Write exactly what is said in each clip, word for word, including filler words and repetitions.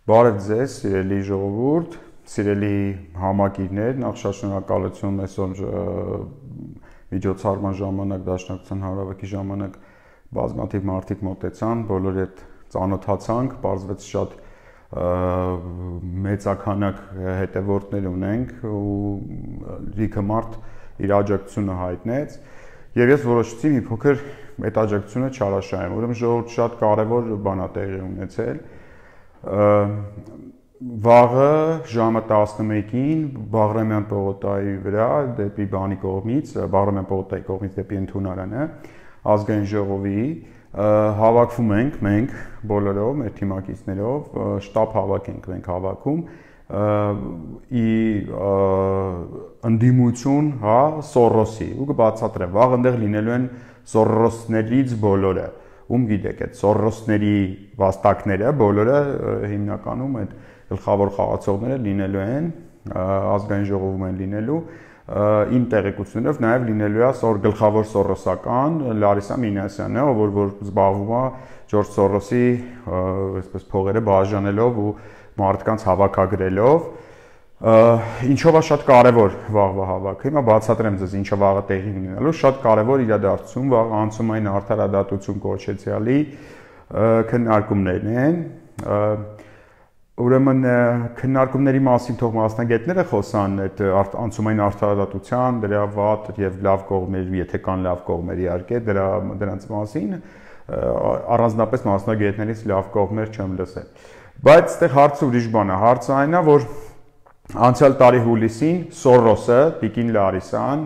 Բարև ձեզ, սիրելի ժողովուրդ, սիրելի համակիրներ, նախ շատ շնորհակալություն այսօր միջոցառման ժամանակ, դաշնակցության հանրավեքի ժամանակ բազմաթիվ մարդիկ մոտեցան, բոլորի հետ ծանոթացանք, պարզվեց շատ մեծաքանակ հետևորդներ ունենք ու լիքը մարդ իր աջակցությունը հայտնեց եւ ես որոշեցի մի փոքր այդ աջակցությունը չարաշահեմ, ուրեմն ժողովուրդ շատ կարեւոր բան է տեղի ունեցել։ Վաղը ժամը տասնմեկին Բաղրամյան պողոտայի վրա դեպի բանի կողմից, Բաղրամյան պողոտայի կողմից դեպի ընդունարանը ազգային ժողովի հավաքվում ենք մենք բոլորով, մեր թիմակիցներով, շտաբ հավաք ենք մենք հավաքում ի ընդդիմություն, հա, Սորոսի, ու կբացատրեմ, վաղ այնտեղ լինելու են Սորոսներից բոլորը, ում գիտեք, այդ Սորոսների վաստակները բոլորը հիմնականում այդ գլխավոր խաղացողները լինելու են, ազգային ժողովում են լինելու, իմ տեղեկություններով նաև լինելու է սոր գլխավոր սորոսական Լարիսա Մինասյանը, ով որ զբաղվում է Ջորջ Սորոսի այսպես փողերը բաժանելով ու մարդկանց հավաքագրելով, ինչով է շատ կարևոր վաղվա հավաքը։ Հիմա բացատրեմ ձեզ ինչը վաղը տեղի ունենալու, շատ կարևոր իրադարձություն, վաղ անցումային արդարադատություն կոչեցյալի քննարկումներն են։ Ուրեմն քննարկումների մասին թող մասնագետները խոսան այդ անցումային արդարադատության, դրա վատ եւ լավ կողմեր, եթե կան լավ կողմեր իհարկե, դրա դրանց մասին առանձնապես մասնագետներից լավ կողմեր չեմ լսել։ Բայց այդտեղ հարցը ուրիշ բան է, հարցը այն է, որ անցյալ տարի հուլիսին Սորոսը, Տիկին Լարիսան,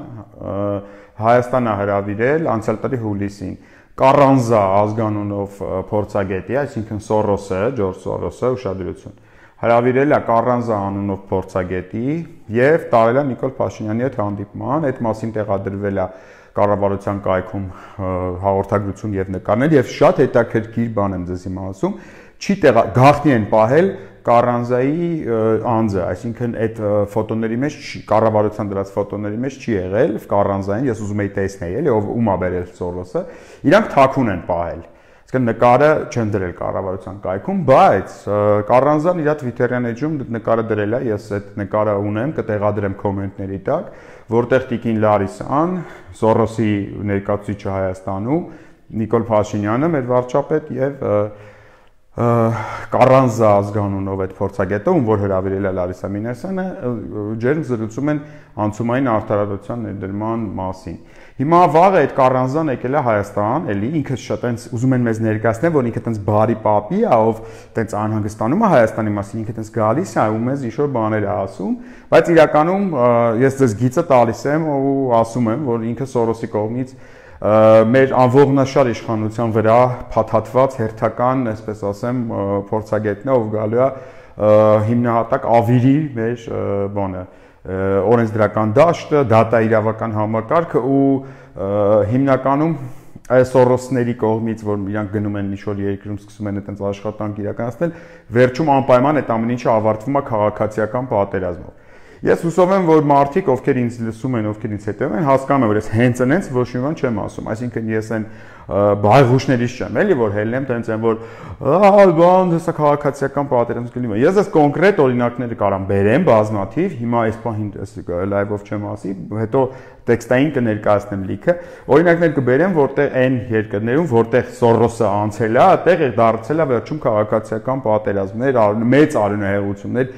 Հայաստան է հրավիրել անցյալ տարի հուլիսին Կարանզա ազգանունով փորձագետի, այսինքն Սորոսը, Ջորջ Սորոսը, ուշադրություն, հրավիրել է Կարանզա անունով փորձագետի եւ տարել է Նիկոլ Փաշինյանի հետ հանդիպման, այդ մասին տեղադրվել է կառավարության կայքում հաղորդագրություն եւ նկարներ եւ շատ հետաքրքիր բան եմ ձեզ հիմա ասում, չի տեղա գաղտնի են պահել Կարանզայի անձը, այսինքն այդ ֆոտոների մեջ կառավարության դրած ֆոտոների մեջ չի եղել Կարանզային, ես ուզում եի տեսնել, էլի ով ում է բերել Սորոսը, իրանք թաքուն են պահել։ Այսինքն նկարը չեն դրել կառավարության կայքում, բայց Կարանզան իր Twitter-յան էջում նկարը դրել է, ես այդ նկարը ունեմ, կտեղադրեմ կոմենտների տակ, որտեղ Տիկին Լարիսան, Սորոսի ներկայացուցիչը Հայաստանում, Նիկոլ Փաշինյանը, մեր վարչապետ եւ Կարանզա ազգանունով այդ փորձագետը, ում որ հրավիրել է Լարիսա Մինասյանը, ջերմ զրուցում են անցումային արդարադատության ներդրման մասին։ Հիմա վաղը այդ Կարանզան եկել է Հայաստան, էլի ինքը շատ այնց ուզում են մեզ ներկայացնել, որ ինքը այնց բարի պապի է, ով այնց անհանգստանում է Հայաստանի մասին, ինքը այնց գալիս է ու մեզ ինչ-որ բաներ է ասում, բայց իրականում ես ձեզ գիծը տալիս եմ ու ասում եմ, որ ինքը Սորոսի կողմից մեր անողնաշար իշխանության վրա փաթաթված հերթական, այսպես ասեմ, փորձագետն է, ով գալու է հիմնահատակ ավիրի մեր բանը, օրենսդրական դաշտը, դատա իրավական համակարգը ու հիմնականում այս Սորոսների կողմից, որ իրանք գնում են ինչ-որ երկրում սկսում են այդպես աշխատանք իրականացնել, վերջում անպայման այդ ամեն ինչը ավարտվում է քաղաքացիական պատերազմով։ Ես հուսով եմ, որ մարդիկ, ովքեր ինձ լսում են, ովքեր ինձ հետևում են, հասկանում են, որ ես հենց այնց ոչ մի բան չեմ ասում, այսինքն ես այն բայղուշներից չեմ, էլի որ հելնեմ, տենց են, որ ահա բան, հեսա քաղաքացիական պատերազմ կլինի։ Ես այս կոնկրետ օրինակները կարամ բերեմ բազմաթիվ, հիմա այս պահին լայվով չեմ ասի, հետո տեքստային կներկայացնեմ լիքը։ Օրինակներ կբերեմ, որտեղ այն երկրներում, որտեղ Սորոսը անցել է, այդտեղ է դարձել է վերջում քաղաքացիական պատերազմներ, մեծ արյունահեղություններ,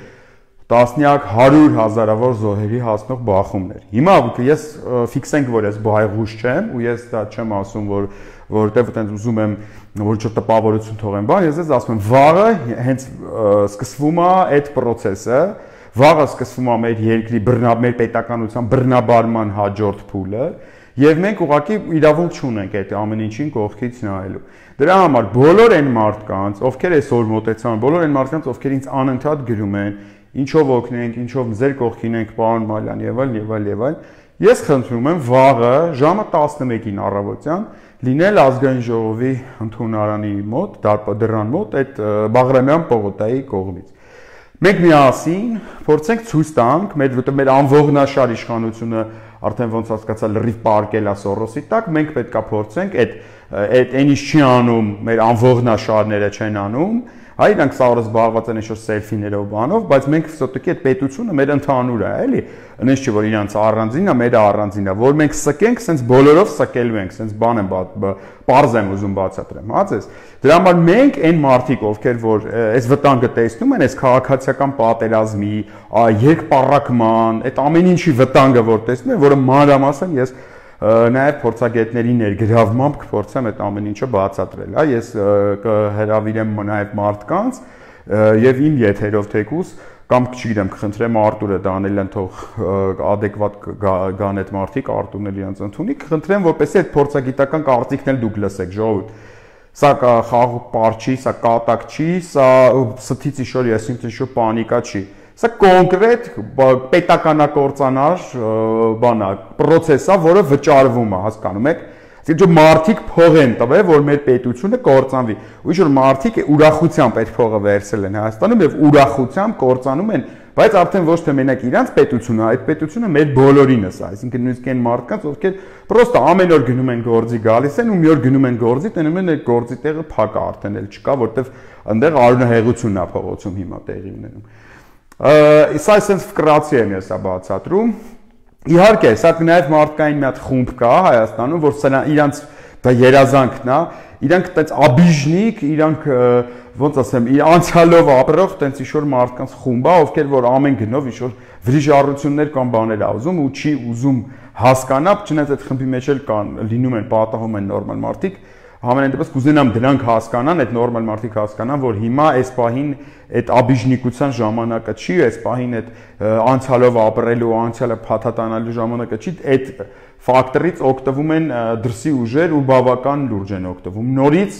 տասնյակ հարյուր հազարավոր զոհերի հասնող բախումներ։ Հիմա ես ֆիքսենք, որ ես բայղուշ չեմ ու ես դա չեմ ասում, որ որտեղ այդպես ուզում եմ որ չէ տպավորություն թողեմ, բան, ես ես ասում եմ, վաղը հենց սկսվում է այդ process-ը, վաղը սկսվում է մեր երկրի բռնա մեր պետականության բռնաբարման հաջորդ փուլը, եւ մենք ուղղակի իրավունք չունենք այդ ամեն ինչին կողքից նայելու։ Դրա համար բոլոր այն մարդկանց, ովքեր այսօր մոտեցան, բոլոր այն մարդկանց, ովքեր ինձ անընդհատ գրում են, ինչով օգնենք, ինչով ձեր կողքին ենք, պարոն Մալյան եւ այլ եւ այլ եւ այլ։ Ես խնդրում եմ վաղը ժամը տասնմեկին առավոտյան լինել ազգային ժողովի ընդունարանի մոտ, դրան մոտ այդ Բաղրամյան պողոտայի կողմից։ Մենք միասին փորձենք ցույց տանք, մեր որտեղ մեր անողնաշար իշխանությունը արդեն ոնց հասկացա լրիվ պարկել է Սորոսի տակ, մենք պետքա փորձենք այդ այդ այն ինչ չի անում, մեր անողնաշարները չեն անում, Հա իրանք սա օրս զբաղված են ինչ-որ սելֆիներով բանով, բայց մենք все-таки այդ պետությունը մեր ընդհանուր է, էլի։ Այնպես չի որ իրանց առանձինն է, մեր առանձինն է, որ մենք սկենք, sense բոլորով սկելու ենք, sense բան եմ բարձ եմ ուզում բացատրեմ, հա ձեզ։ Դրա համար մենք այն մարդիկ, ովքեր որ այս վտանգը տեսնում են, այս քաղաքացիական պատերազմի, երկպառակման, այդ ամեն ինչի վտանգը որ տեսնում են, որը մանրամասն ես նաև փորձագետների ներգրավմամբ կփորձեմ այդ ամեն ինչը բացատրել, հա, ես կհրավիրեմ նաև մարդկանց եւ իմ եթերով թեկուս կամ չգիտեմ, կխնդրեմ Արտուրը Դանելյան թող adekvat գան այդ մարդիկ, Արտուրն էլ իրենց ընդունի, կխնդրեմ որպեսզի այդ փորձագիտական կարծիքն էլ դուք լսեք, ժողովուրդ։ Սա խաղ պարչի, սա կատակ չի, սա ստից իշոր ես ինչ-որ պանիկա չի։ Սա կոնկրետ պետականակործանար բանա, process է, որը վճարվում է, հասկանում եք։ Այսինքն մարդիկ փող են տվել, որ մեր պետությունը կործանվի։ Ու ինչ-որ մարդիկ ուրախությամբ այդ փողը վերցել են Հայաստանում եւ ուրախությամբ կործանում են, բայց արդեն ոչ թե մենակ իրանց պետությունը, այդ պետությունը մեր բոլորինս է, այսինքն նույնիսկ այն մարդկանց, ովքեր պրոստը ամեն օր գնում են գործի գալիս են ու մի օր գնում են գործի, տենում են այդ գործի տեղը փակ է արդեն էլ չկա, որտեվ այնտեղ արյունահեղությունն է փողոցում հիմա տեղի ունենում։ Սա այսպես վկրացի եմ ես բացատրում։ Իհարկե, սա նաև մարդկային մի հատ խումբ կա Հայաստանում, որ սա իրանց դա երազանքն է, իրանք այդպես աբիժնիկ, իրանք ոնց ասեմ, անցյալով ապրող այդպես ինչ-որ մարդկանց խումբ է, ովքեր որ ամեն գնով ինչ-որ վրիժառություններ կամ բաներ ա ուզում ու չի ուզում հասկանա, չնայած այդ խմբի մեջ էլ կան լինում են պատահում են նորմալ մարդիկ, Համենայն դեպս կուզենամ դրանք հասկանան, այդ նորմալ մարդիկ հասկանան, որ հիմա այս պահին այդ աբիժնիկության ժամանակը չի, այս պահին այդ անցյալով ապրելու, անցյալը փաթաթանալու ժամանակը չի, այդ ֆակտորից օգտվում են դրսի ուժեր ու բավական լուրջ են օգտվում։ Նորից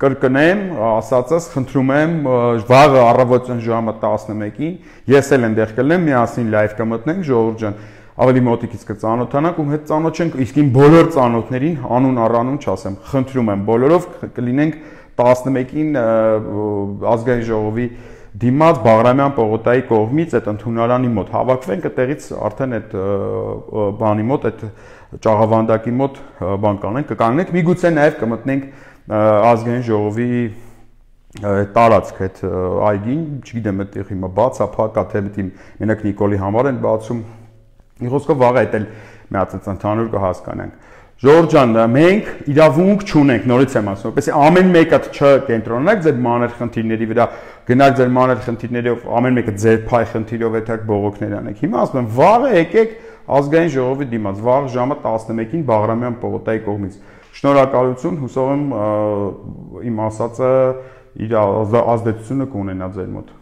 կրկնեմ, ասածս, խնդրում եմ, վաղը առավոտյան ժամը տասնմեկին ես էլ այնտեղ կլինեմ, միասին լայվ կմտնենք, ժողովուրդ ջան, ավելի մոտիկից կծանոթանանք ու հետ ծանոթ չենք, իսկ իմ բոլոր ծանոթներին անուն առանուն չասեմ, խնդրում եմ, բոլորով կլինենք տասնմեկին ազգային ժողովի դիմաց Բաղրամյան պողոտայի կողմից այդ ընդունարանի մոտ հավաքվենք, այդտեղից արդեն այդ բանի մոտ, այդ ճաղավանդակի մոտ բան կանենք, կկանգնենք, միգուցե նաև կմտնենք ազգային ժողովի տարածք այդ այգին, չգիտեմ, այդտեղ հիմա բաց է, փակ է, թե մենակ Նիկոլի համար են բացում։ Մի խոսքով վաղ այդ էլ մի հատ ընդհանուր կհասկանանք։ Ժողովուրդ ջան, մենք իրավունք չունենք, նորից եմ ասում, որպեսզի ամեն մեկը չկենտրոնանաք ձեր մանր խնդիրների վրա, գնաք ձեր մանր խնդիրներով, ամեն մեկը ձեր փայ խնդիրով այդտեղ բողոքներ անեք։ Հիմա ասում եմ, վաղը եկեք ազգային ժողովի դիմաց, վաղ ժամը տասնմեկին Բաղրամյան պողոտայի կողմից։ Շնորհակալություն, հուսով եմ իմ ասածը իր ազդեցությունը կունենա ձեր մոտ։